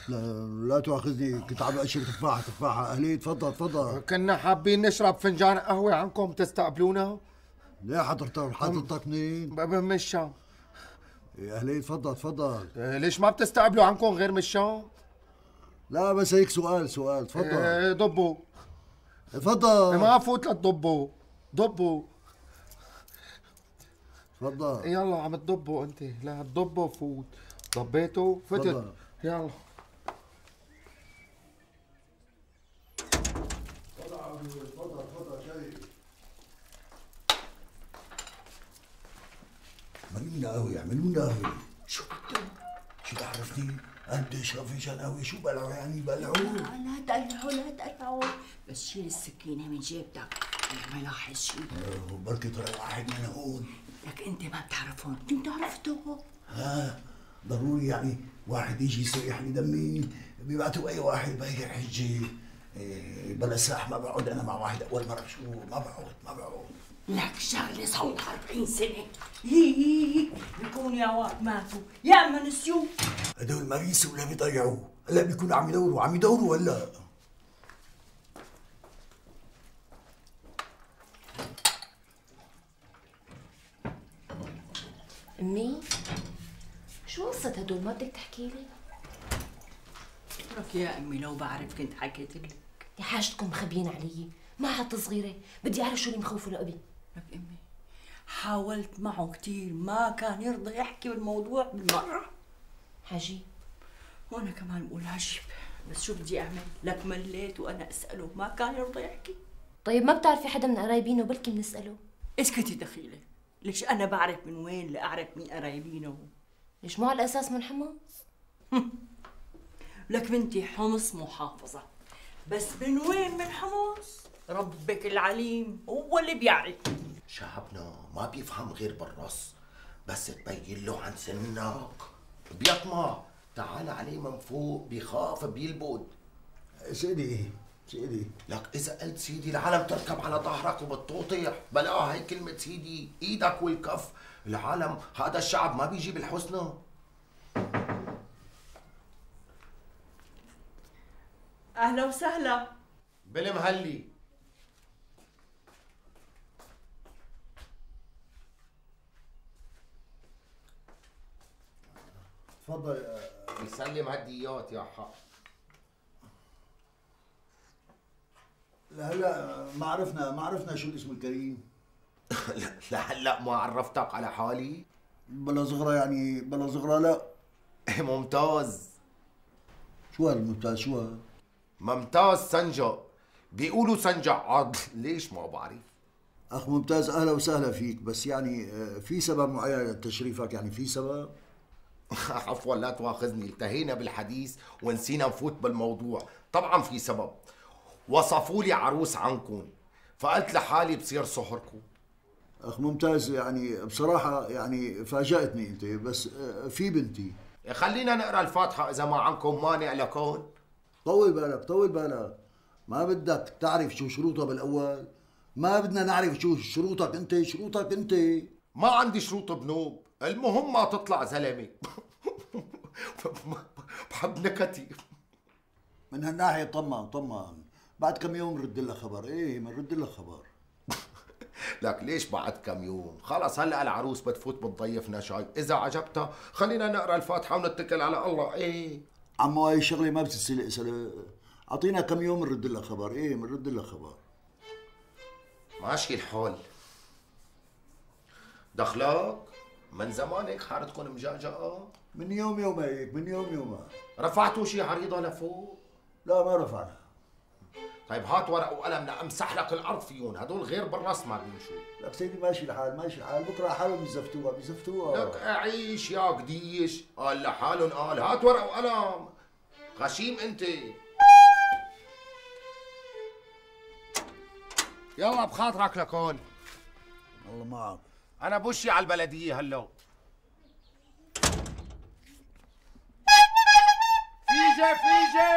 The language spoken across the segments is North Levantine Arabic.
لا تواخذني، كنت عم اشرب تفاحة أهلي. تفضل تفضل. كنا حابين نشرب فنجان قهوة عنكم تستقبلونا؟ ليه حضرتك منين؟ من الشام. يا أهلي تفضل تفضل. ليش ما بتستقبلوا عنكم غير من الشام؟ لا بس هيك سؤال تفضل. ضبوا. تفضل. ما فوت لتضبوا. ضبوا. تفضل. يلا عم تضبوا انت، لا تضبوا فوت. ضبيتوا فتت. يلا. تفضل شاي. اعملوا لنا قهوة. شو بدك؟ شو تعرفني؟ أنا بدي أشرب فنجان قهوة. شو بلعوا يعني بلعوا؟ لا تقلعوا بس شيل السكينة من جيبتك. أنا ما لاحظ شيء. بركي طلع واحد من هون. لك أنت ما بتعرفهم، كنت عرفته. ضروري يعني واحد يجي يسيح لي دمي؟ بيبعتوا أي واحد بهيك حجة. بلا سلاح ما بقعد أنا مع واحد أول مرة. شو ما بقعد. لك شغلة صار 40 سنة. بيكون يا واد ماتوا يا اما نسيوه. هدول ما بينسوا ولا بيضيعوا. هلا بيكونوا عم يدوروا هلا. أمي شو قصة هدول؟ ما بدك تحكي لي؟ لك يا أمي لو بعرف كنت حكيت لك. يا حاجتكم مخبيين علي، ما عاد صغيرة، بدي أعرف شو اللي مخوفه لأبي. لك أمي حاولت معه كثير، ما كان يرضى يحكي بالموضوع بالمرة. عجيب. وأنا كمان بقول عجيب، بس شو بدي أعمل؟ لك مليت وأنا أسأله ما كان يرضى يحكي. طيب ما بتعرفي حدا من قرايبينه بلكي بنسأله؟ اسكتي دخيلة، ليش أنا بعرف من وين لأعرف مين قرايبينه؟ ليش مو على الأساس من حمص؟ لك بنتي حمص محافظة، بس من وين من حمص؟ ربك العليم هو اللي بيعرف. شعبنا ما بيفهم غير بالرص، بس تبين له عن سنك بيطمع. تعال عليه من فوق بيخاف بيلبد. سيدي لك إذا قلت سيدي العالم تركب على ظهرك وبتطوطح. بلا هي كلمة سيدي، إيدك والكف. العالم هذا الشعب ما بيجي بالحسنى. أهلا وسهلا. بالمهلي. تفضل. يسلم هديات يا حق. هلا ما عرفنا شو الاسم الكريم. لهلا ما عرفتك على حالي؟ بلا صغرى لا. ممتاز. شو هالممتاز؟ شو هاد؟ ممتاز سنجا، بيقولوا سنجا عضل. ليش ما بعرف. اخ ممتاز اهلا وسهلا فيك، بس يعني في سبب معين لتشريفك؟ يعني في سبب؟ عفوا لا تواخذني، التهينا بالحديث ونسينا نفوت بالموضوع. طبعا في سبب، وصفوا لي عروس عنكم فقلت لحالي بصير صهركم. اخ ممتاز، يعني بصراحة يعني فاجأتني انت، بس في بنتي. خلينا نقرا الفاتحة إذا ما عنكم مانع لكون. طول بالك، ما بدك تعرف شو شروطها بالأول؟ ما بدنا نعرف شو شروطك انت. ما عندي شروط بنوب، المهم ما تطلع زلمة. بحب نكتي. من هالناحية طمن. بعد كم يوم رد لك خبر. بنرد لك خبر. لك ليش بعد كم يوم؟ خلص هلا العروس بتفوت بتضيفنا شاي، إذا عجبتها خلينا نقرا الفاتحة ونتكل على الله. عمو هاي الشغلة ما بتتسلق. أعطينا كم يوم بنرد لك خبر. بنرد لك خبر. ماشي الحال. دخلك من زمان هيك حارتكم مجعجعة؟ من يوم هيك. رفعتوا شي عريضة لفوق؟ لا ما رفعنا. طيب هات ورق وقلم لأمسح لك الأرض فيهم، هدول غير بالراس ما بيمشوا. لك سيدي ماشي الحال، بكره حالهم بيزفتوها. لك أعيش يا قديش، قال لحالهم قال. هات ورق وقلم، غشيم أنت. يلا بخاطرك لكون. الله معك. أنا بوشي على البلدية هلا. فيجي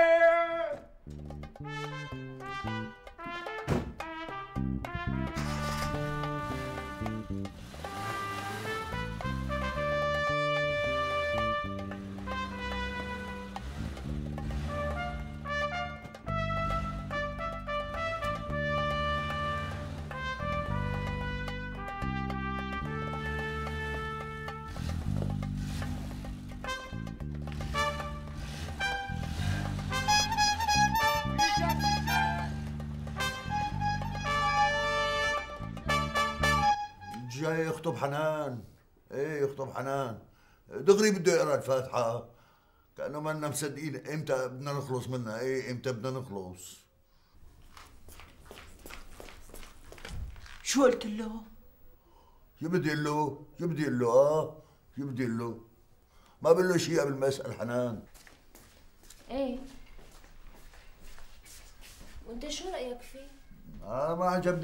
جاي يخطب حنان. ايه يخطب حنان دغري بده يقرا الفاتحة، كأنه ما لنا مصدقين امتى بدنا نخلص منها. ايه امتى بدنا نخلص؟ شو قلت له؟ شو بدي اقول له؟ شو بدي اقول له؟ شو بدي اقول له؟ ما بقول له شيء قبل ما اسال حنان. ايه وانت شو رايك فيه؟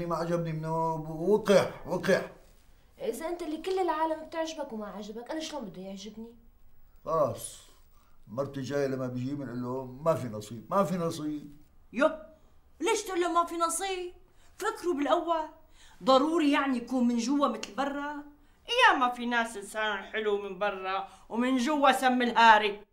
ما عجبني منه. وقح. اذا انت اللي كل العالم بتعجبك وما عجبك، انا شلون بده يعجبني؟ خلاص مرتي جايه لما بيجي بنقول له ما في نصيب. يو ليش تقول له ما في نصيب؟ فكروا بالاول، ضروري يعني يكون من جوا مثل برا؟ يا ما في ناس انسان حلو من برا ومن جوا سم الهاري.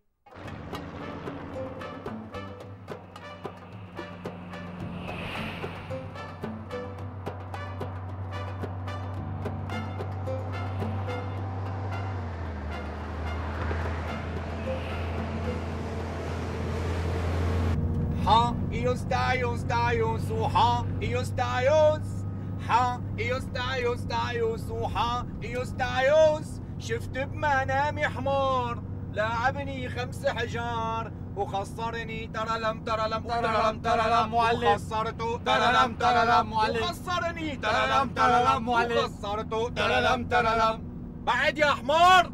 Ios وحا Ios وحا Ios شفت بمنامي حمار لاعبني 5 حجار وخسرني ترلم معلم وخسرته ترلم معلم وخسرني ترلم معلم وخسرته ترلم بعد يا حمار.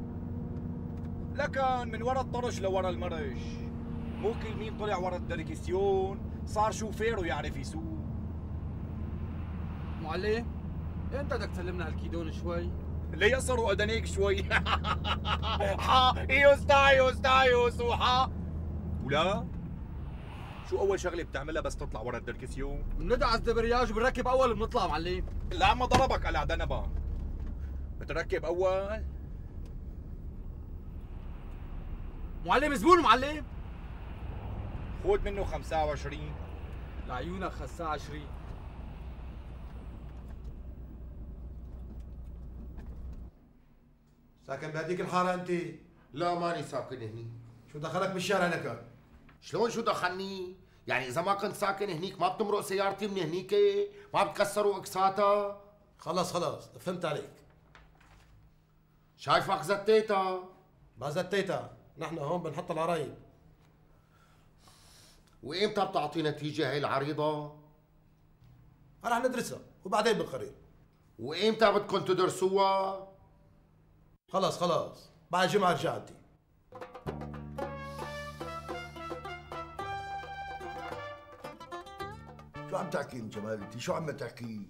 لكن من ورا الطرش لورا المرش، مو كل مين طلع ورا الدركسيون صار شوفير ويعرف يسوق. معلم امتى بدك تسلمنا هالكيدون شوي؟ ليه يقصروا أدنيك شوي؟ حا إيوس وحا. ولا شو أول شغلة بتعملها بس تطلع ورا الدركسيون؟ بندعس دبرياج وبنركب أول وبنطلع معلم. لا ما ضربك على دنبا، بتركب أول. معلم زبون معلم. خود منه 25 لعيونك خساء 20. ساكن بهديك الحارة أنت؟ لا ماني ساكن هني. شو دخلك بالشارع لك؟ شلون شو دخلني؟ يعني إذا ما كنت ساكن هنيك ما بتمرق سيارتي من هنيك؟ ما بتكسروا أكساتها؟ خلص فهمت عليك. شايفك زتيتها. ما زتيتها، نحن هون بنحط العرايب. وإمتى بتعطي نتيجة هي العريضة؟ رح ندرسها وبعدين بنقرر. وإمتى بدكم تدرسوها؟ خلص بعد جمعة رجعتي. شو عم تحكي من جمالتي؟ شو عم تحكي؟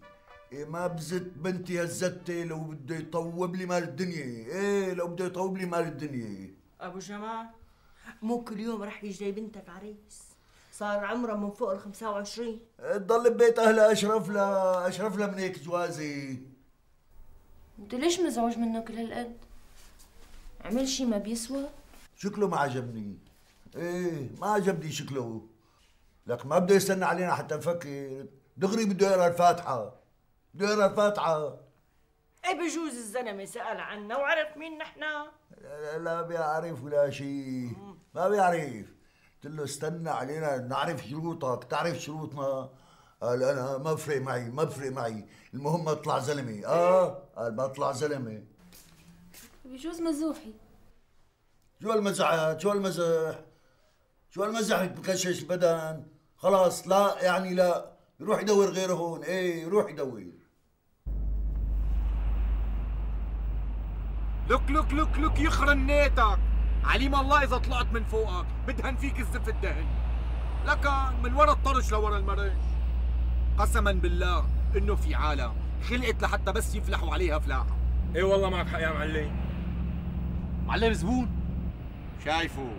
إيه ما بزت بنتي هالزتة لو بده يطوب لي مال الدنيا. ايه لو بده يطوب لي مال الدنيا. ابو جمال مو كل يوم رح يجي جاي بنتك عريس، صار عمرها من فوق ال 25. تضل ببيت اهلها اشرف لها من هيك جوازي. انت ليش مزعوج منه كل هالقد؟ عمل شي ما بيسوى؟ شكله ما عجبني. ايه ما عجبني شكله، لك ما بده يستنى علينا حتى نفكر، دغري بده يقرا الفاتحة. ايه بجوز الزلمه سأل عنا وعرف مين نحنا. لا بيعرف ولا شيء، ما بيعرف. قلت له استنى علينا نعرف شروطك، تعرف شروطنا. قال انا ما بفرق معي، المهم اطلع زلمه. قال ما اطلع زلمه. بجوز مزوحي. شو هالمزح بكشش البدن. خلاص لا يعني لا، يروح يدور غيره هون. ايه يروح يدور. لك يخرن نيتك، عليم الله اذا طلعت من فوقك بدهن فيك الزف الدهن. لكن من ورا الطرش لورا المرش، قسما بالله انه في عالم خلقت لحتى بس يفلحوا عليها فلاحه. ايه والله معك حق يا معلم زبون شايفه.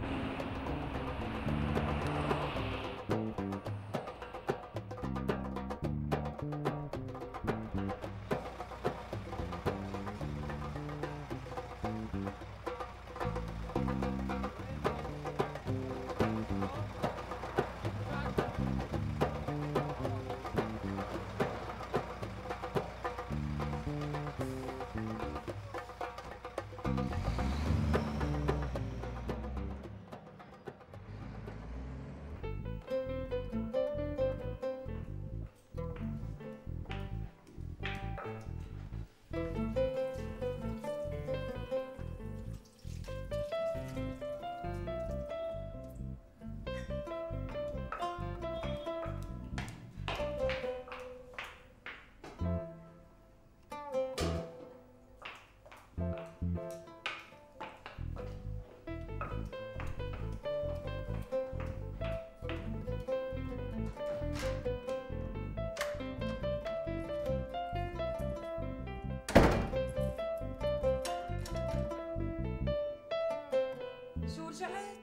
رجعت؟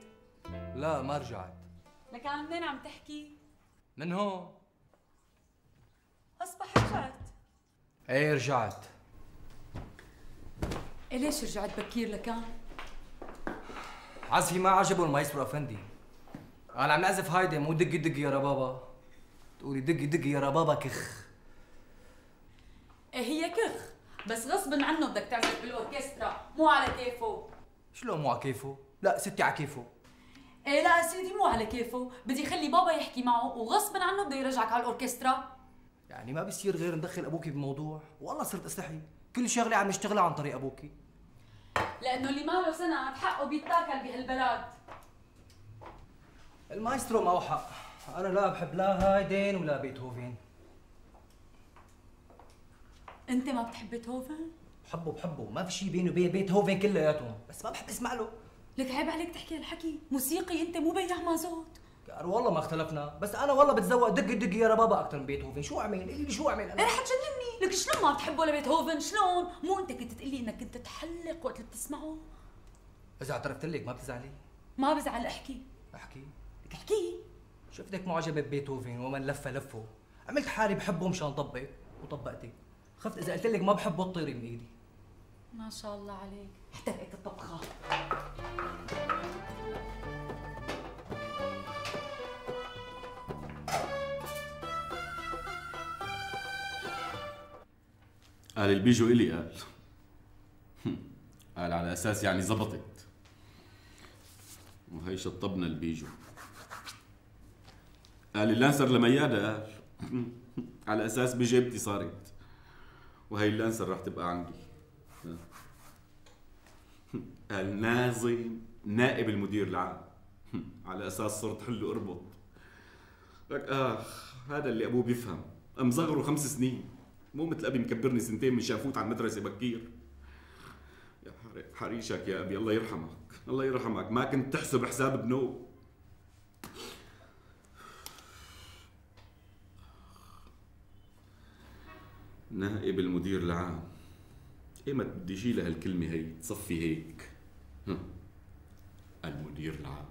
لا ما رجعت. لكان منين عم تحكي؟ من هون. أصبح رجعت. ايه رجعت. إيه ليش رجعت بكير لكان؟ عزفي ما عجبه المايسترو افندي. انا عم نعزف هايدي مو دقي دقي يا ربابا. تقولي دقي دقي يا ربابا كخ. إيه هي كخ، بس غصب عنه بدك تعزف بالاوركسترا، مو على كيفه. شلون مو على كيفه؟ لا ستي على كيفه. إيه لا سيدي مو على كيفه، بدي خلي بابا يحكي معه وغصب عنه بده يرجعك على الاوركسترا. يعني ما بيصير غير ندخل ابوكي بالموضوع، والله صرت استحي، كل شغله عم نشتغلها عن طريق ابوكي. لأنه اللي ما له سند حقه بيتاكل بهالبلد. المايسترو معه حق، انا لا بحب لا هايدن ولا بيتهوفن. أنت ما بتحب بيتهوفن؟ بحبه، ما في شيء بيني وبين بيتهوفن كلياتهم، بس ما بحب اسمع له. لك عيب عليك تحكي هالحكي، موسيقي أنت مو بياع مازوت. والله ما اختلفنا، بس انا والله بتذوق دقي دقي يا ربابا اكثر من بيتهوفن، شو اعمل؟ قولي لي شو اعمل انا؟ إيه رح تجنني، لك شلون ما بتحبه لبيتهوفن؟ شلون؟ مو أنت كنت تقلي إنك كنت تحلق وقت اللي بتسمعه؟ اذا اعترفت لك ما بتزعلي؟ ما بزعل احكي. احكي؟ لك احكي. شفتك معجبة ببيتهوفن ومن لف لفه، عملت حالي بحبه مشان طبق وطبقتي، خفت اذا قلت لك ما بحبه تطيري من ايدي. ما شاء الله عليك، احترقت الطبخة. قال البيجو إلي قال على أساس يعني زبطت، وهي شطبنا البيجو. قال اللانسر لميادة قال على أساس بجيبتي صارت، وهي اللانسر رح تبقى عندي. قال ناظم نائب المدير العام على أساس صرت حل أربط. لك هذا اللي أبوه بيفهم، مصغره 5 سنين، مو مثل أبي مكبرني 2 من شافوت على المدرسة بكير. يا حريشك يا أبي، الله يرحمك الله يرحمك، ما كنت تحسب حساب بنوب. نائب المدير العام، ايمت بدي شيلها هالكلمة هي تصفي هيك. المدير العام.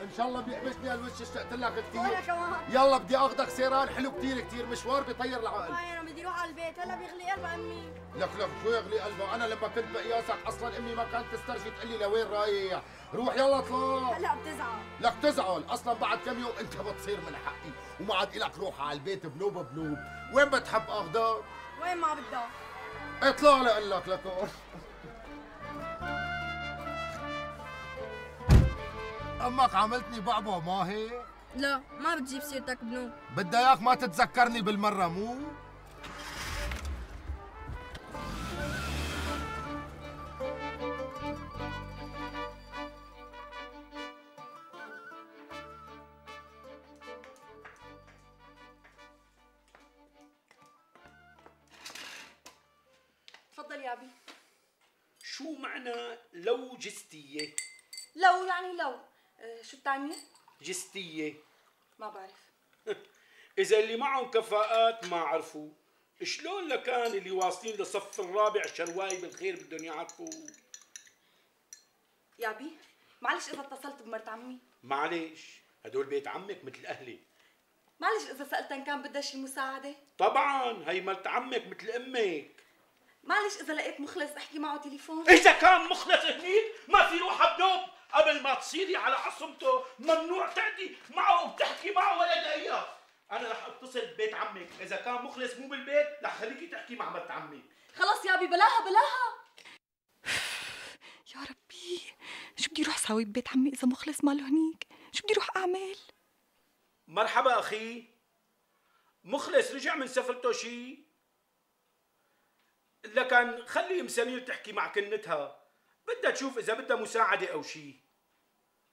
ان شاء الله بيحبسني هالوش، اشتقت لك كثير. وانا كمان. يلا بدي اخذك سيران حلو كثير مشوار بيطير العقل. انا بدي اروح على البيت، هلا بيغلي قلب امي. لك شو يغلي قلبه؟ انا لما كنت بقياسك اصلا امي ما كانت تسترجي تقول لي لوين رايح، روح يلا اطلع. هلا بتزعل. لك تزعل، اصلا بعد كم يوم انت بتصير من حقي، وما عاد الك روح على البيت بنوب. وين بتحب اخذك؟ وين ما بدك. اطلع لقول لك لكم. امك عملتني بعبع ما هيك؟ لا ما بتجيب سيرتك بنو. بدي اياك ما تتذكرني بالمره مو؟ تفضل يا ابي. شو معنى لو جستية؟ لو يعني لو شو الثانية؟ جستية. ما بعرف. إذا اللي معهم كفاءات ما عرفوا، شلون لكان اللي واصلين للصف الرابع شرواي بالخير بدهم يعرفوا؟ يا ابي معلش إذا اتصلت بمرت عمي. معلش هدول بيت عمك مثل أهلي. معلش إذا سألتها إن كان بدها شي مساعدة. طبعا هي مرت عمك مثل أمك. معلش إذا لقيت مخلص أحكي معه تليفون. إذا كان مخلص هنيك ما في روحها بنوب، قبل ما تصيري على عصمته ممنوع تعدي معه وبتحكي معه ولا دقيقة. أنا رح أتصل ببيت عمك، إذا كان مخلص مو بالبيت رح خليكي تحكي مع مرت عمك. خلص يا أبي بلاها. يا ربي شو بدي روح ساوي ببيت عمي إذا مخلص ماله هنيك؟ شو بدي روح أعمل؟ مرحبا أخي، مخلص رجع من سفرته شي؟ لكن خلي مسامير تحكي مع كنتها، بدها تشوف اذا بدها مساعده او شيء.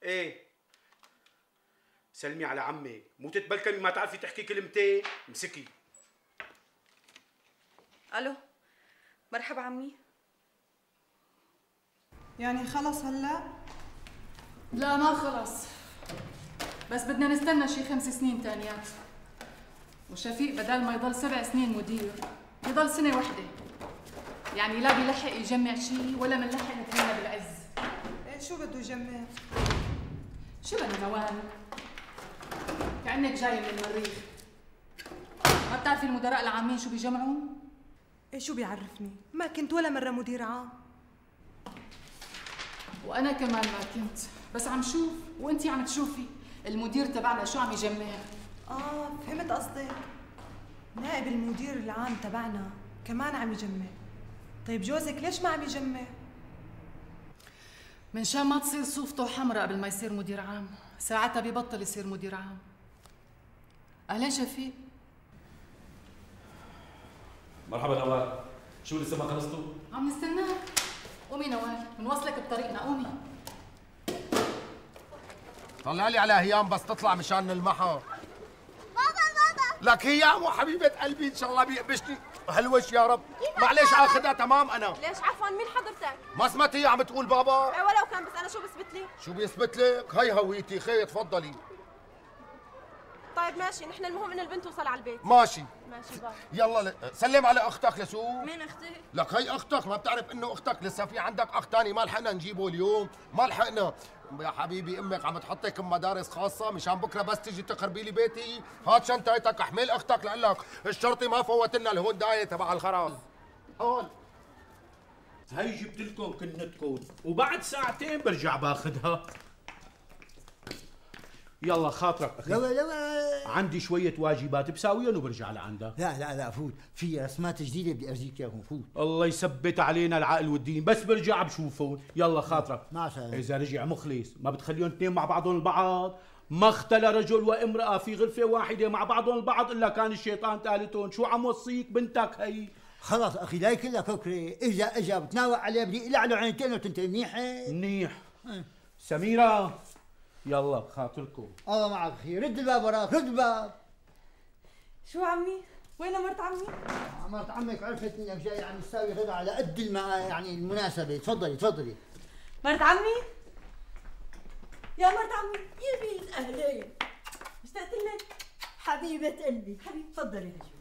ايه سلمي على عمك، مو تتبلكمي ما تعرفي تحكي كلمتين. امسكي. الو، مرحبا عمي. يعني خلص هلا؟ لا ما خلص، بس بدنا نستنى شي 5 سنين تانيات. وشفيق بدل ما يضل 7 سنين مدير يضل سنة واحدة، يعني لا بيلحق يجمع شي ولا منلحق نتهنى بالعز. ايه شو بده يجمع؟ شبنا نوال، كأنك جاي من المريخ. ما بتعرفي المدراء العامين شو بيجمعون؟ ايه شو بيعرفني؟ ما كنت ولا مرة مدير عام. وأنا كمان ما كنت، بس عم شوف وأنتي عم تشوفي المدير تبعنا شو عم يجمع. فهمت قصدك. نائب المدير العام تبعنا كمان عم يجمع. طيب جوزك ليش ما عم يجمع؟ من شان ما تصير صوفته حمراء قبل ما يصير مدير عام، ساعتها ببطل يصير مدير عام. أهلين شفيق. مرحبا نوال، شو لسه ما خلصتوا؟ عم نستناك. قومي نوال، بنوصلك بطريقنا، قومي. طلع لي على هيام بس تطلع مشان نلمحها. بابا لك هيام وحبيبة قلبي ان شاء الله بيقبشني هلوش يا رب. معلش اخذها تمام انا. ليش عفوا مين حضرتك؟ ما سمعت هي عم تقول بابا؟ ولو كان، بس انا شو بثبت لي؟ شو بيثبت لك؟ هي هويتي، خي تفضلي. طيب ماشي، نحن المهم ان البنت توصل على البيت. ماشي بابا. يلا سلم على اختك لسوق. مين اختي؟ لك هي اختك، ما بتعرف انه اختك لسه في عندك اخ ثاني ما لحقنا نجيبه اليوم، ما لحقنا. يا حبيبي امك عم تحطك بمدارس خاصه مشان بكره بس تيجي تخربي لي بيتي. هات شنطتك احمل اختك لك الشرطي ما فوت لنا الهونداي تبع الخراز. هون هي جبت لكم كنتكم وبعد ساعتين برجع باخذها. يلا خاطرك اخي. لا عندي شوية واجبات بساويهم وبرجع لعندك. لا فوت، في رسمات جديدة بدي ارجيك اياهم، فوت. الله يثبت علينا العقل والدين، بس برجع بشوفهم. يلا خاطرك. مع السلامة. إذا رجع مخلص ما بتخليهم اثنين مع بعضهم البعض. ما اختلى رجل وامرأة في غرفة واحدة مع بعضهم البعض إلا كان الشيطان ثالثهم. شو عم وصيك بنتك هي؟ خلص اخي لا كلها كوكري، اذا اجى بتناوى عليه بدي اقلع له عينتين وتنتهي منيحة. منيح. سميرة يلا خاطركم. الله معك اخي، رد الباب وراك، رد الباب. شو عمي؟ وين مرت عمي؟ مرت عمك عرفت انك جاي عم تساوي غدا على قد يعني المناسبة. تفضلي. مرت عمي؟ يا مرت عمي، يا بنت اهلين، اشتقت لك حبيبة قلبي. حبيبي تفضلي لجوا.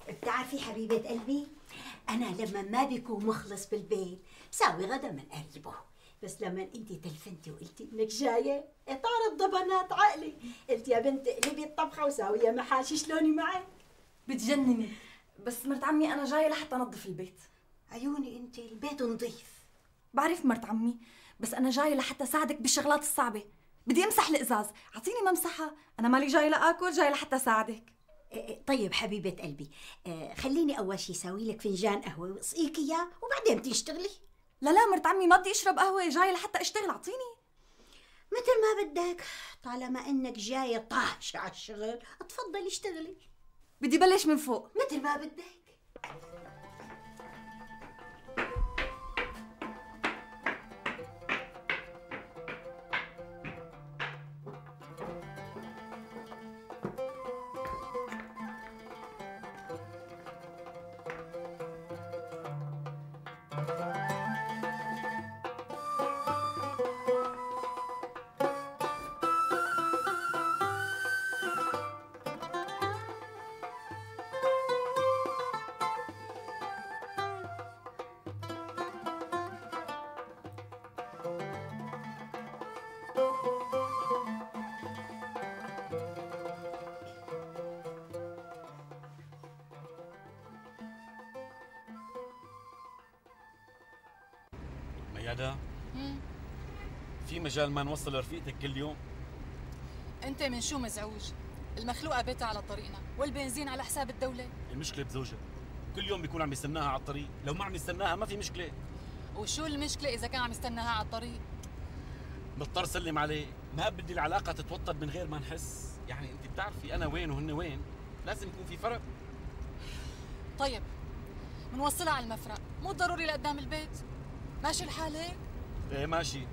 بتعرفي حبيبة قلبي، أنا لما ما بيكون مخلص بالبيت بساوي غدا من قريبه، بس لما أنت تلفنتي وقلتي إنك جاية طارت ضبنات عقلي، قلت يا بنت اقلبي الطبخة وساوية محاشي. شلوني معك؟ بتجنني، بس مرت عمي أنا جاية لحتى أنظف البيت. عيوني أنت البيت نظيف. بعرف مرت عمي، بس أنا جاية لحتى ساعدك بالشغلات الصعبة. بدي أمسح الإزاز، أعطيني ممسحة، أنا مالي جاية لآكل، جاية لحتى ساعدك. طيب حبيبة قلبي، خليني أول شي ساوي لك فنجان قهوة واسقيك إياه وبعدين بتشتغلي. لا مرت عمي ما بدي أشرب قهوة، جاية لحتى أشتغل، أعطيني. مثل ما بدك، طالما إنك جاية طاهشة على الشغل تفضلي اشتغلي. بدي بلش من فوق. مثل ما بدك. ميادة، في مجال ما نوصل لرفيقتك كل يوم؟ انت من شو مزعوج؟ المخلوقة بيتها على طريقنا والبنزين على حساب الدولة. المشكلة بزوجها، كل يوم بيكون عم يستناها على الطريق، لو ما عم يستناها ما في مشكلة. وشو المشكلة إذا كان عم يستناها على الطريق؟ مضطر سلم عليه، ما بدي العلاقة تتوتر من غير ما نحس، يعني انت بتعرفي انا وين وهن وين، لازم يكون في فرق. طيب منوصلها على المفرق، مو ضروري لقدام البيت. ماشي الحال هيك؟ ايه ماشي.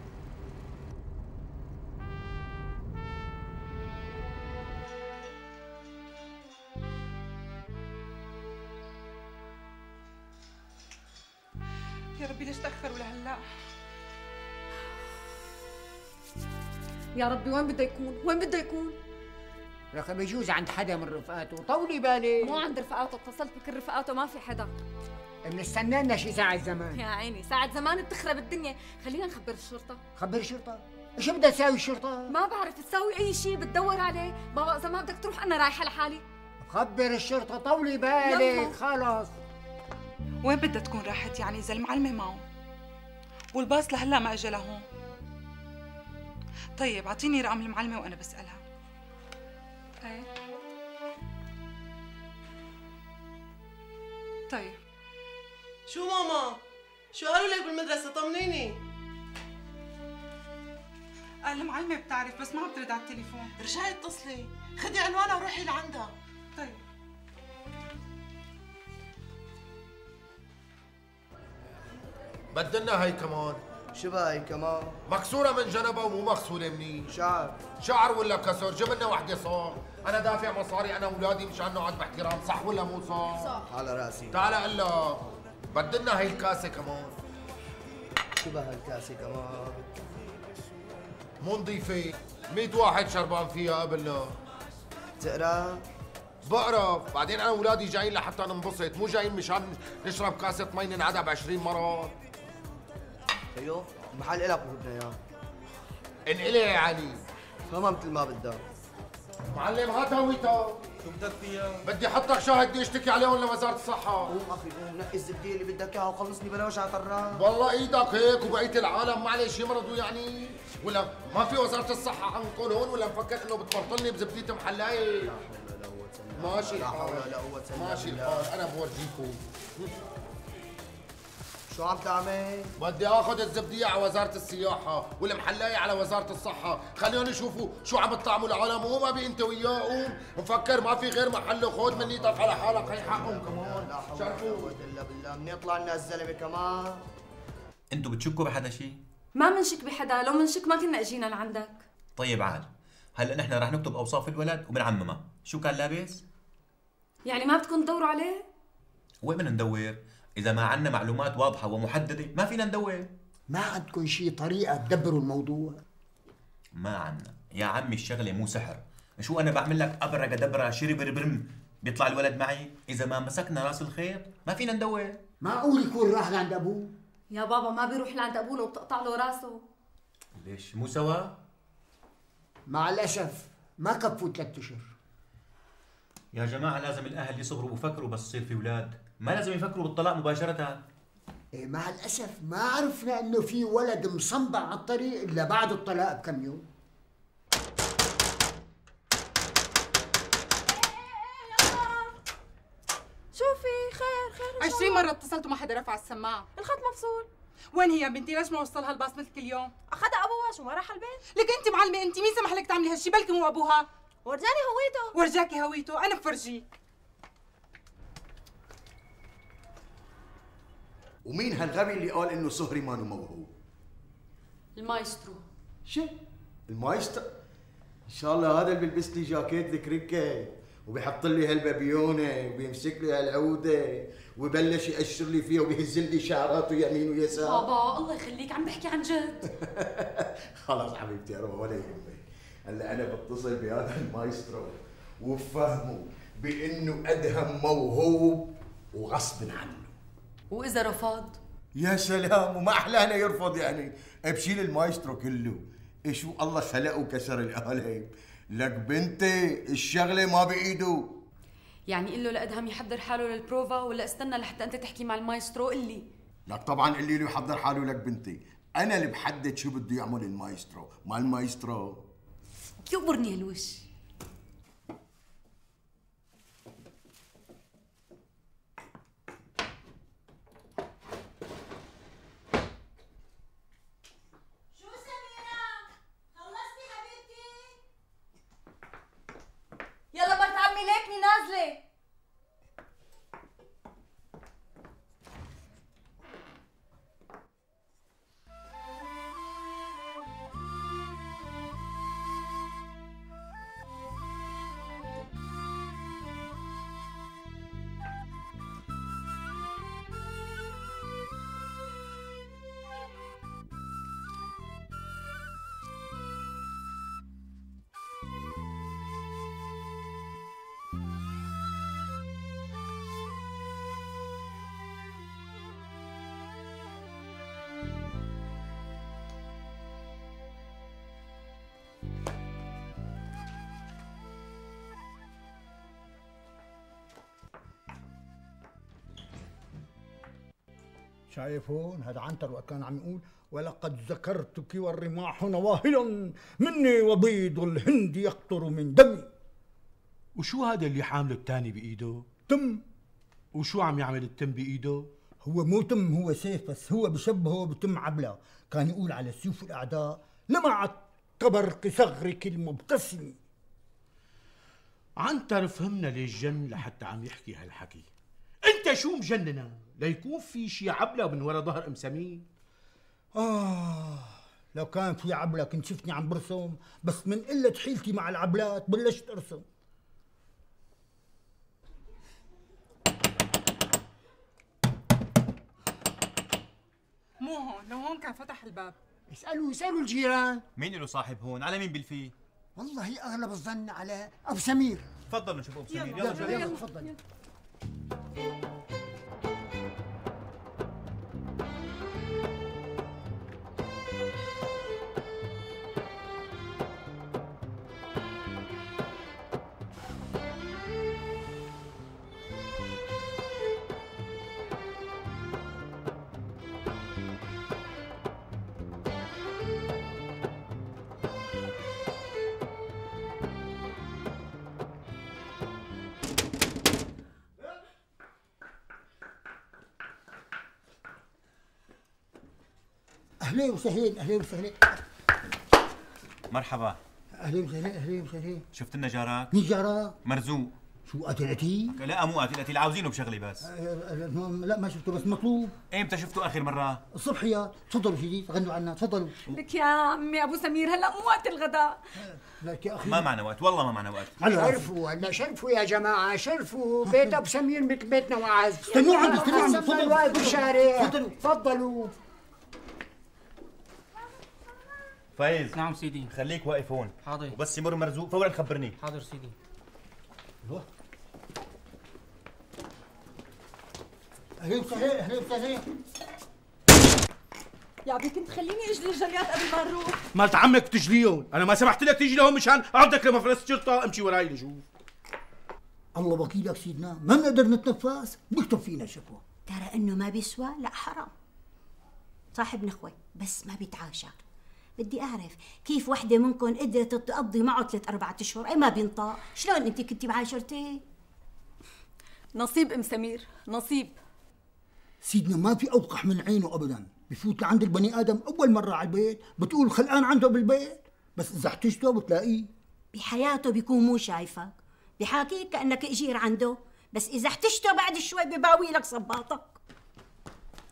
يا ربي ليش تأخروا لهلا؟ يا ربي وين بده يكون؟ وين بده يكون؟ لك بيجوز عند حدا من رفقاته، طولي بالك. مو عند رفقاته، اتصلت بكل رفقاته ما في حدا. بنستنى لنا شي ساعة زمان. يا عيني ساعة زمان بتخرب الدنيا، خلينا نخبر الشرطة. خبر الشرطة؟ شو بدها تساوي الشرطة؟ ما بعرف تساوي أي شيء، بتدور عليه، بابا إذا ما بدك تروح أنا رايحة لحالي. خبر الشرطة، طولي بالك، خلص. وين بدها تكون راحت يعني إذا المعلمة معه؟ والباص لهلا ما اجى لهون. طيب اعطيني رقم المعلمة وأنا بسألها. ايه طيب. شو ماما؟ شو قالوا لك بالمدرسة؟ طمنيني. المعلمة بتعرف بس ما عم ترد على التليفون. رجعي اتصلي، خدي عنوانها وروحي لعندها. طيب. بدلنا هاي كمان. شو بقى هي كمان؟ مكسورة من جنبها ومو مغسولة منيح. شعر. شعر ولا كسر؟ جيب لنا وحدة صار. أنا دافع مصاري أنا وأولادي مشان نقعد باحترام، صح ولا مو صح؟ صح. على راسي. تعال قل لك، بدلنا هاي الكاسة كمان. شو بقى هالكاسة كمان؟ مو نظيفة، 100 واحد شربان فيها قبلنا. تقرا؟ بقرا، بعدين أنا وأولادي جايين لحتى ننبسط، مو جايين مشان نشرب كاسة مي ننعدها ب20 مرة. ايوه، المحل إلك وبدنا إياه. انقلي يا علي. فما مثل ما بدها. معلم هات هويتها. شو بدك فيها؟ بدي احطك شاهد بدي اشتكي عليهم لوزارة الصحة. قوم اخي قوم، نقي الزبدية اللي بدك اياها وخلصني بلا وجع طران. والله ايدك هيك وبقية العالم معلش يمرضوا يعني؟ ولا ما في وزارة الصحة عندكم هون ولا مفكر انه بتبرطلني بزبدية محلاية؟ لا حول ولا قوة الا بالله. ماشي لا حول الحال. ولا قوة الا بالله. ماشي الحال، انا بورجيكم. شو عم تعمل؟ بدي اخذ الزبدية على وزارة السياحة والمحلاية على وزارة الصحة، خليهم يشوفوا شو عم تطعموا العالم وهو ما بي انت وياه. قوم مفكر ما في غير محل، خذ من ايدك على حالك، هي حقهم كمان. لا حول ولا قوة الا بالله، من يطلع لنا الزلمة كمان. انتوا بتشكوا بحدا شيء؟ ما منشك بحدا، لو منشك ما كنا اجينا لعندك. طيب عاد، هلا نحن رح نكتب اوصاف الولد وبنعممها، شو كان لابس؟ يعني ما بدكم تدوروا عليه؟ وين بدنا ندور؟ إذا ما عندنا معلومات واضحة ومحددة ما فينا ندور. ما عندكم شي طريقة تدبروا الموضوع؟ ما عندنا، يا عمي الشغلة مو سحر، شو أنا بعمل لك أبرة دبرة شربر برم بيطلع الولد معي؟ إذا ما مسكنا راس الخيط ما فينا ندور. معقول يكون راح لعند أبوه؟ يا بابا ما بيروح لعند أبوه لو بتقطع له راسه. ليش مو سوا؟ مع الأسف ما كفوا 3 أشهر. يا جماعة لازم الأهل يصبروا ويفكروا بس يصير في أولاد، ما لازم يفكروا بالطلاق مباشرة. إيه مع الأسف ما عرفنا إنه في ولد مصنبع على الطريق إلا بعد الطلاق بكم يوم. شوفي خير 20 مرة اتصلت وما حدا رفع السماعة. الخط مفصول. وين هي بنتي؟ ليش ما وصلها الباص مثل كل يوم؟ أخذها أبوها، شو ما راح البيت؟ لك أنت معلمة، أنت مين سمح لك تعملي هالشي؟ بلكي مو أبوها. ورجاني هويته. ورجاكي هويته، أنا بفرجيك. ومين هالغبي اللي قال انه صهري مانو موهوب؟ المايسترو. شو؟ المايسترو؟ ان شاء الله هذا اللي بيلبس لي جاكيت الكريكه وبيحط لي هالبابيونه وبيمسك لي هالعوده ويبلش يقشر لي فيها وبيهز لي شعراته يمين ويسار. بابا الله يخليك عم بحكي عن جد. خلاص حبيبتي اروى ولا يهمك. هلا انا بتصل بهذا المايسترو وبفهمه بانه ادهم موهوب وغصب عنه. وإذا رفض؟ يا سلام، وما احلانا يرفض يعني. بشيل المايسترو كله. شو الله خلقه وكسر القالب. لك بنتي الشغله ما بايده. يعني قل له لأدهم يحضر حاله للبروفا ولا استنى لحتى انت تحكي مع المايسترو؟ قل لي. لك طبعا قولي له يحضر حاله. لك بنتي انا اللي بحدد شو بده يعمل المايسترو، ما المايسترو. يقبرني هالوش. يلا مرت عمي ليكني نازلة. شايف هون هذا عنتر وقت كان عم يقول ولقد ذكرتك والرماح نواهلا مني وبيض الهند يقطر من دمي. وشو هذا اللي حامله الثاني بايده؟ تم. وشو عم يعمل التم بايده؟ هو مو تم، هو سيف، بس هو بشبهه بتم عبلة. كان يقول على سيوف الاعداء لمعت كبرق صغرك المبتسم. عنتر فهمنا ليش جن لحتى عم يحكي هالحكي. انت شو مجننا ليكون في شي عبلة من ورا ظهر ام سمير؟ لو كان في عبلة كنت شفتني عم برسم، بس من قلة حيلتي مع العبلات بلشت ارسم. مو هون، لو هون كان فتح الباب. اسألوا الجيران. مين له صاحب هون؟ على مين بالفي؟ والله اغلب الظن على ابو سمير. تفضلوا نشوف ابو سمير. يلا تفضل. اهلين وسهلين. اهلين وسهلين. مرحبا. اهلين وسهلين. اهلين وسهلين. شفت لنا جارك؟ مين جارك؟ مرزوق. شو قتل قتيل؟ لا مو قتيل، عاوزينه بشغله بس. لا ما شفته، بس مطلوب. ايمتى شفته اخر مره؟ الصبحيات. تفضلوا سيدي غنوا عنا، تفضلوا. لك يا عمي ابو سمير هلا مو وقت الغداء. لك يا اخي ما معنا وقت، والله ما معنا وقت. شرفوا هلا، شرفوا يا جماعه، شرفوا. بيت ابو سمير مثل بيتنا وعز. استنوا عندي، استنوا عندي. تفضلوا واقف بالشارع. تفضلوا تفضلوا. فايز. نعم سيدي. خليك واقف هون. حاضر. وبس يمر مرزوق فورا خبرني. حاضر سيدي. اهلين وسهلين. اهلين وسهلين. يا ابي كنت خليني اجلي الجليات قبل ما نروح. مالت عمك تجليهم، انا ما سمحت لك تيجي لهون مشان اعدك لمفرس شرطه. امشي وراي لشوف. الله وكيلك سيدنا، ما بنقدر نتنفس، بيكتب فينا شكوى. ترى انه ما بيسوى، لا حرام. صاحب نخوة بس ما بيتعاشر. بدي اعرف كيف وحده منكم قدرت تقضي معه 3-4 اشهر، اي ما بينطق. شلون انت كنتي بعاشرتي؟ نصيب ام سمير، نصيب. سيدنا ما في اوقح من عينه ابدا. بفوت لعند البني ادم اول مره على البيت بتقول خلقان عنده بالبيت، بس اذا احتجته بتلاقيه بحياته بيكون مو شايفك، بحاكيك كانك اجير عنده، بس اذا احتجته بعد شوي بباوي لك صباطك.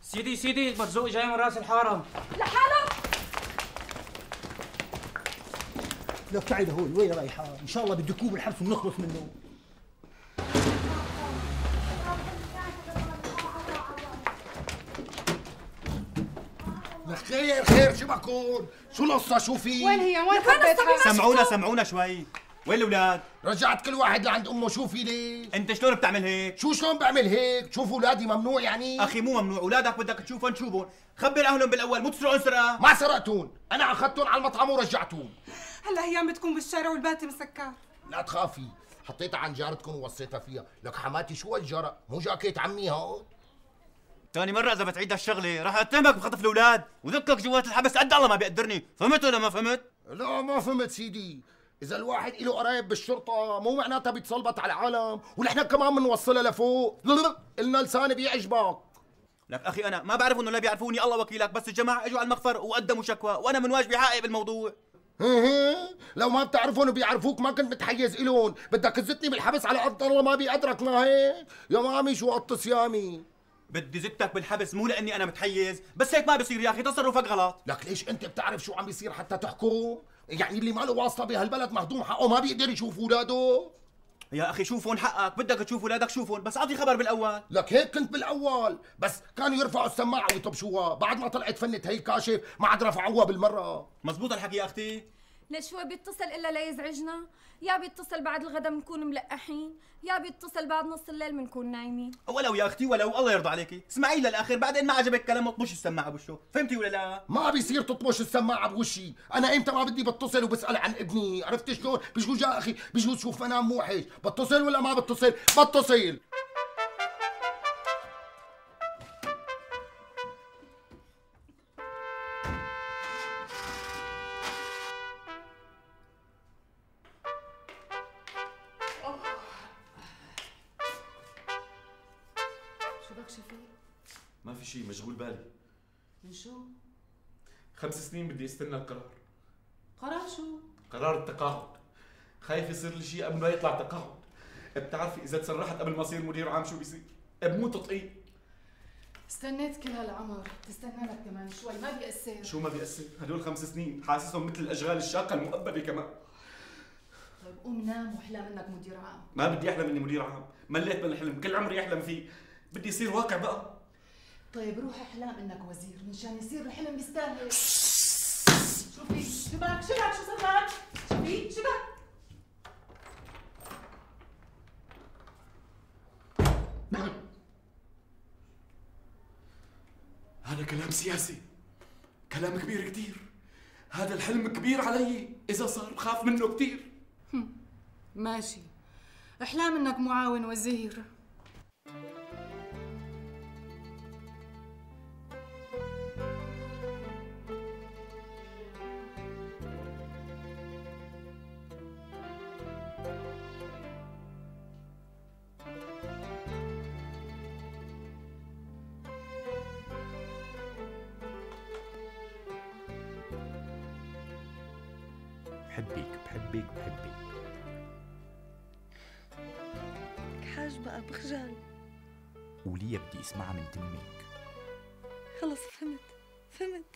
سيدي مرزوق جاي من راس الحارة لحاله. لك تعي لهون. وين رايحه؟ ان شاء الله بدكوه بالحبس ونخلص منه. خير خير شو بكون؟ شو القصة؟ شو في؟ وين هي؟ وين خبيتها؟ سمعونا شوي. وين الاولاد؟ رجعت كل واحد لعند امه. شو في ليش؟ انت شلون بتعمل هيك؟ شو شلون بعمل هيك؟ تشوف اولادي ممنوع يعني؟ اخي مو ممنوع، اولادك بدك تشوفهم شوفهم، خبر اهلهم بالاول، مو تسرقون سرقه. ما سرقتون، انا اخذتهم على المطعم ورجعتون. هلا هي بتكون بالشارع والباتي مسكر. لا تخافي، حطيتها عن جارتكم ووصيتها فيها. لك حماتي شو هالجرأ؟ مو جاكيت عمي هون؟ ثاني مرة إذا بتعيد هالشغلة راح أتهمك بخطف الأولاد وذكك جوات الحبس قد الله ما بيقدرني، فهمت ولا ما فهمت؟ لا ما فهمت سيدي، إذا الواحد له قرايب بالشرطة مو معناتها بيتسلبط على العالم، ونحن كمان بنوصلها لفوق، قلنا لساني بيعجبك. لك أخي أنا ما بعرف إنه لا بيعرفوني الله وكيلك، بس الجماعة إجوا على المخفر وقدموا شكوى وأنا من واجبي حقق بالموضوع. لو ما بتعرفون وبيعرفوك ما كنت متحيز إلهم، بدك تزتني بالحبس على قد الله ما بيقدرك. ما هيك؟ يا مامي شو قط صيامي؟ بدي زتك بالحبس مو لاني انا متحيز، بس هيك ما بصير يا اخي، تصرفك غلط. لك ليش انت بتعرف شو عم بيصير حتى تحكم؟ يعني اللي ما له واسطه بهالبلد مهضوم حقه ما بيقدر يشوف اولاده؟ يا اخي شوفون حقك، بدك تشوف اولادك شوفون، بس اعطي خبر بالاول. لك هيك كنت بالاول، بس كانوا يرفعوا السماعه ويطبشوها، بعد ما طلعت فنة هي كاشف ما عاد رفعوها بالمره. مزبوط الحكي يا اختي؟ ليش هو بيتصل الا ليزعجنا؟ يا بيتصل بعد الغدا بنكون ملقحين، يا بيتصل بعد نص الليل بنكون نايمين. ولو يا اختي ولو، الله يرضى عليكي، اسمعي للاخر، بعدين ما عجبك كلامه اطبش السماعه بوشه، فهمتي ولا لا؟ ما بيصير تطبش السماعه بوشي، انا امتى ما بدي بتصل وبسال عن ابني، عرفت شلون؟ بجوز يا اخي بجوز شوف منام موحش، بتصل ولا ما بتصل؟ بتصل. شفيق؟ ما في شيء، مشغول بالي. من شو؟ 5 سنين بدي استنى القرار. قرار شو؟ قرار التقاعد. خايف يصير لي شيء قبل ما يطلع تقاعد. بتعرفي اذا تسرحت قبل ما اصير مدير عام شو بيصير؟ بموت تطقيق. استنيت كل هالعمر، تستنى لك كمان شوي، ما بيأثر. شو ما بيأثر؟ هدول 5 سنين حاسسهم مثل الاشغال الشاقه المؤبده كمان. طيب قوم نام واحلم انك مدير عام. ما بدي احلم اني مدير عام، مليت من الحلم، كل عمري احلم فيه، بدي يصير واقع بقى. طيب روح احلام انك وزير منشان يصير الحلم بيستاهل. شوفي شو بك شو صار لك؟ شوفي شو بك؟ هذا كلام سياسي، كلام كبير كتير. هذا الحلم كبير علي، إذا صار بخاف منه كتير. ماشي، احلام انك معاون وزير. بحبك حاج بقى بخجل. وليه بدي اسمعها من تمك؟ خلص فهمت.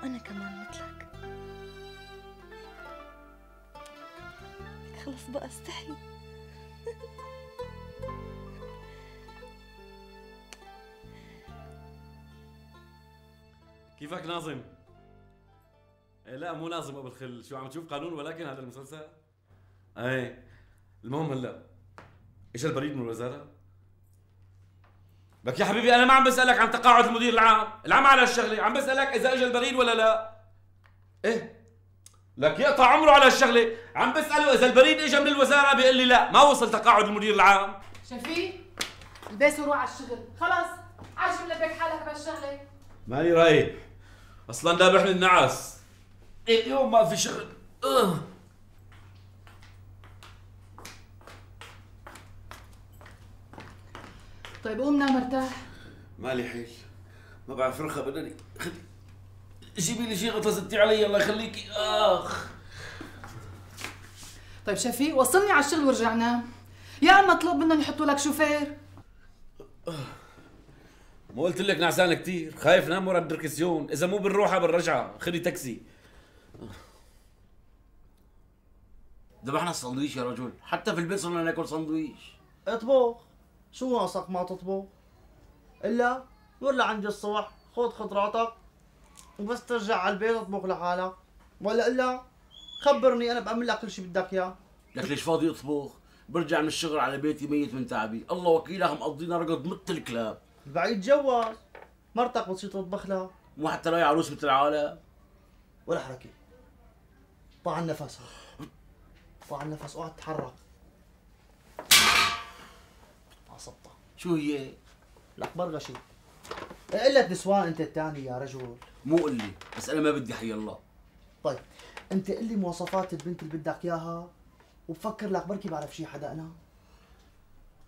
أنا كمان مثلك. خلص بقى استحي. كيفك ناظم؟ لا مو ناظم ابو الخل، شو عم تشوف قانون ولكن هذا المسلسل؟ ايه المهم هلا ايش البريد من الوزاره؟ لك يا حبيبي انا ما عم بسالك عن تقاعد المدير العام على الشغله، عم بسالك اذا اجى البريد ولا لا. ايه لك يقطع عمره على الشغله، عم بساله اذا البريد اجى من الوزاره بيقول لي لا ما وصل تقاعد المدير العام. شفيق البس وروح على الشغل، خلص عايش ملبك حالك بهالشغله. ماني رايح اصلا دابح من النعس، اليوم ما في شغل. طيب قوم نام مرتاح. مالي حيل، ما بعرف رخى بدني، جيبي لي شيء غطستي علي الله يخليكي. طيب شفيق وصلني على الشغل وارجع نام، يا اما اطلب منهم يحطوا لك شوفير. ما قلت لك نعسان كثير، خايف نام ورا الدركسيون، اذا مو بالروحه بالرجعه، خذي تاكسي. ذبحنا السندويش يا رجل، حتى في البيت صرنا ناكل سندويش. اطبخ، شو ناقصك ما تطبخ؟ الا ولا عندي الصبح خذ خضراتك وبس ترجع على البيت اطبخ لحالك، ولا الا خبرني انا بعمل لك كل شيء بدك اياه. لك ليش فاضي اطبخ؟ برجع من الشغل على بيتي ميت من تعبي، الله وكيلها مقضينا رقد مثل الكلاب. بعيد جواز، مرتك بتصير تطبخ لها. مو حتى راي عروس مثل العالم. ولا حركة. طلع النفس، طلع النفس، اوعى تتحرك. عصبتها. شو هي؟ لك برغشي. قلة نسوان انت الثاني يا رجل. مو قل لي، بس انا ما بدي حي الله. طيب، انت قل لي مواصفات البنت اللي بدك اياها وبفكر لك بركي بعرف شي حدا انا.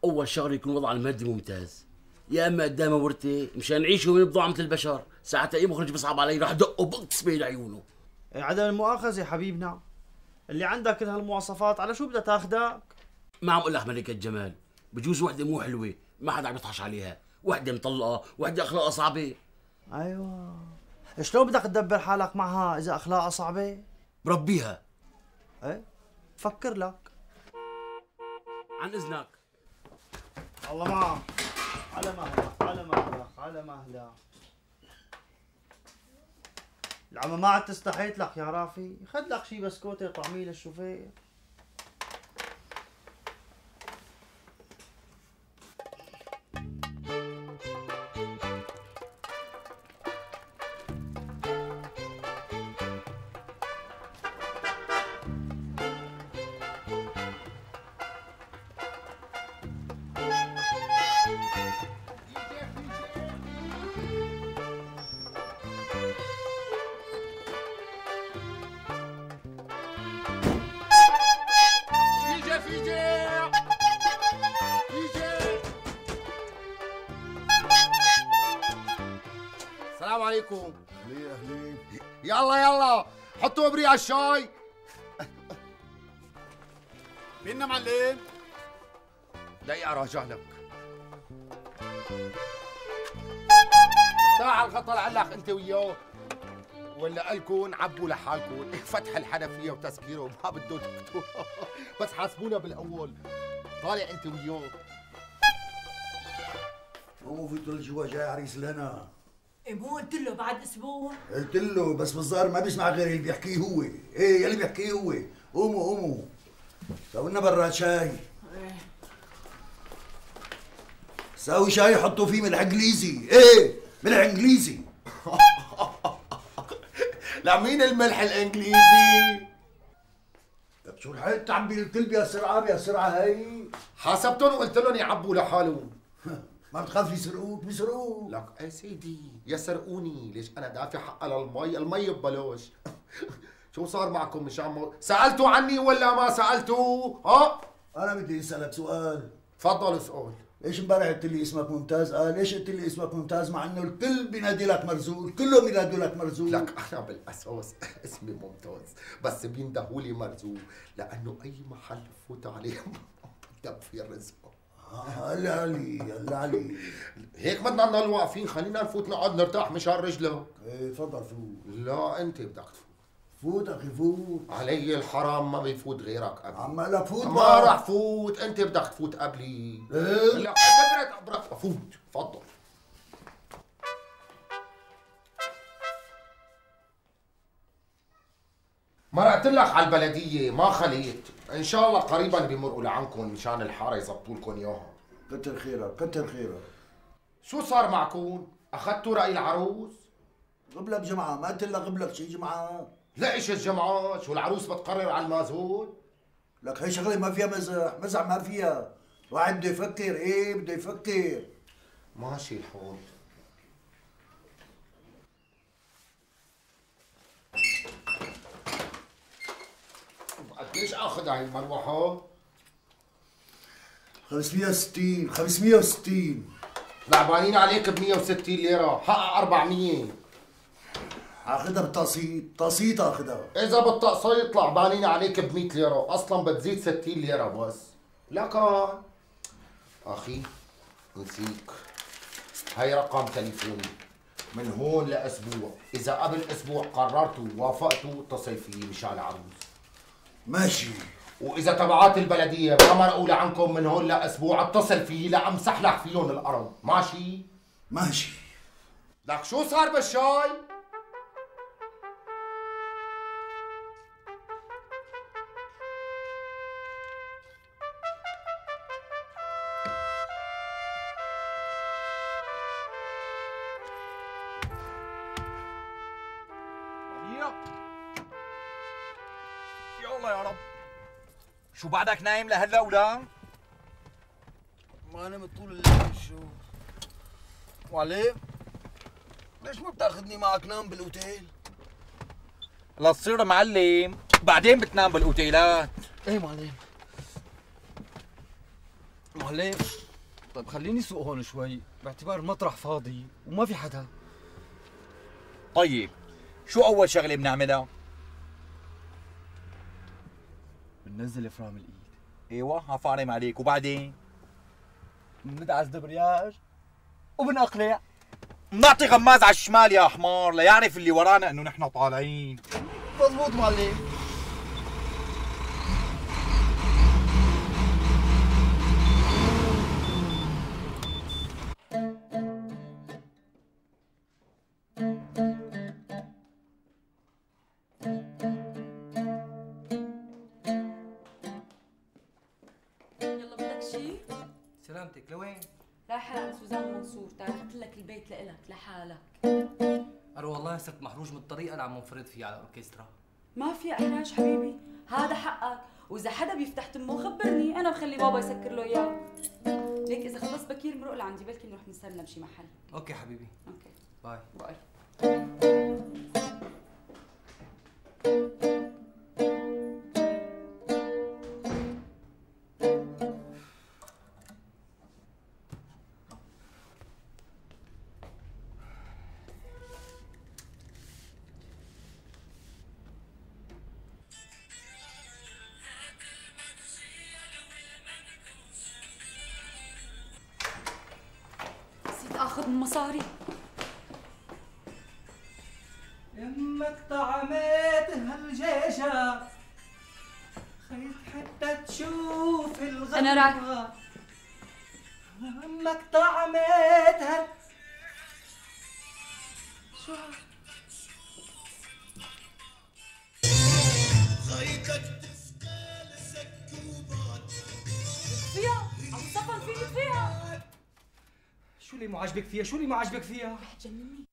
اول شغله يكون وضع المادي ممتاز، يا اما قدامه ورثه مشان نعيش ونبضع مثل البشر، ساعتها اي مخرج بيصعب علي رح دقه بقص بين عيونه. عدم المؤاخذة يا حبيبنا، اللي عندك كل هالمواصفات على شو بدها تاخدك؟ ما عم اقول لك ملكة جمال، بجوز وحده مو حلوه ما حدا عم يطحش عليها، وحده مطلقه، وحده اخلاقها صعبه. ايوه، شلون بدك تدبر حالك معها اذا اخلاقها صعبه؟ بربيها. ايه فكر لك. عن اذنك. الله معك. على مهلك على مهلك على مهلك. العمى ما عاد تستحيت لك يا رافي، خد لك شي بسكوته طعميه للشوفير. عليكم. اهلين اهلين. يلا حطوا ابريق على الشاي. فينا معلم؟ دقيقة راجع لك. تعال الغطا لعلق انت وياه، ولا قالكن عبوا لحالكن. فتح الحنفية وتسكيره ما بده دكتور. بس حاسبونا بالاول. طالع انت وياه. مو فيتوا لجوا جاي عريس لنا. إيه مو قلت له بعد اسبوع؟ قلت له بس بالظاهر ما بيسمع غير اللي بيحكيه هو. ايه يلي بيحكيه هو. قوموا سووا لنا براد شاي. ساوي شاي حطوا فيه ملح انجليزي. ايه ملح انجليزي. لمين الملح الانجليزي؟ طب شو الحق تعبي الكل بهالسرعه هي؟ حاسبتهم وقلت لهم يعبوا لحالهم. ما بتخاف يسرقوك؟ بيسرقوك. لك ايه سيدي يسرقوني، ليش انا دافع حق المي ببلاش. شو صار معكم مشان سالتوا عني ولا ما سالتوا؟ ها؟ انا بدي اسالك سؤال. تفضل اسال. ليش امبارح قلت لي اسمك ممتاز؟ ليش قلت لي اسمك ممتاز مع انه الكل بينادي لك مرزوق، كلهم بينادوا لك مرزوق. لك انا بالاساس اسمي ممتاز، بس بيندهوا لي مرزوق لانه اي محل بفوت عليه بدك في رزق. هلا علي هيك بدنا نضل واقفين، خلينا نفوت نقعد نرتاح مشان رجلك. ايه تفضل فوت. لا انت بدك تفوت. فوت اخي فوت. علي الحرام ما بيفوت غيرك قبلي. عم لك فوت. ما راح فوت، انت بدك تفوت قبلي. ايه؟ لا قدرت فوت، تفضل. مرقت لك على البلدية ما خليت، ان شاء الله قريبا بيمرقوا لعنكم مشان الحارة يزبطوا لكم اياها. كتر خيرك كتر خيرك. شو صار معكم؟ اخذتوا رأي العروس؟ قبلك جمعة، ما قلت لك قبلك شي جمعة؟ لا ايش الجمعة؟ شو العروس بتقرر على المازول؟ لك هي شغلة ما فيها مزح ما فيها. واحد بده يفكر. ايه بده يفكر. ماشي الحال. قديش اخذ هاي المروحة؟ 560. لعبانين عليك ب 160 ليرة، حقق 400. اخذها بالتقسيط، تقسيط اخذها. إذا بالتقسيط لعبانين عليك ب 100 ليرة، أصلاً بتزيد 60 ليرة بس. لكن أخي نسيك، هاي رقم تليفوني من هون لأسبوع، إذا قبل أسبوع قررتوا ووافقتوا اتصل فيي مشان العروس. ماشي. وإذا تبعات البلدية ما مرقوا لعنكم من هون لأسبوع اتصل فيي لأمسح لك فيهم الأرض، ماشي؟ ماشي. لك شو صار بالشاي؟ يلا يا رب. شو بعدك نايم لهلا ولا؟ ما نمت طول الليل. شو معلم؟ ليش ما بتاخذني معك نام بالاوتيل؟ لا تصير معلم، بعدين بتنام بالاوتيلات. ايه معلم. طيب خليني سوق هون شوي باعتبار المطرح فاضي وما في حدا. طيب شو أول شغلة بنعملها؟ بننزل فرام الايد. ايوه هفارم عليك، وبعدين؟ بندعس دبرياج وبنقلع. بنعطي غماز على الشمال يا حمار ليعرف اللي ورانا انه نحن طالعين. مضبوط معلم. سلامتك لوين؟ رايحة عند سوزان منصور، تاركت لك البيت لإلك لحالك. أنا والله صرت محروج من الطريقة اللي عم منفرد فيها على الأوركسترا. ما في إحراج حبيبي، هذا حقك، وإذا حدا بيفتح تمه خبرني، أنا بخلي بابا يسكر له إياه. ليك إذا خلص بكير مرق لعندي، بلكي نروح نستنى بشي محل. أوكي حبيبي. أوكي. باي. باي. اخذ من مصاري. يمك طعمت هالجيشة خيط حتى تشوف الغمرة. أنا راح. يمك طعمت شو فيها عم تصفن فيني فيها. شو اللي مو عاجبك فيها؟ شو اللي مو عاجبك فيها؟ رح تجنني.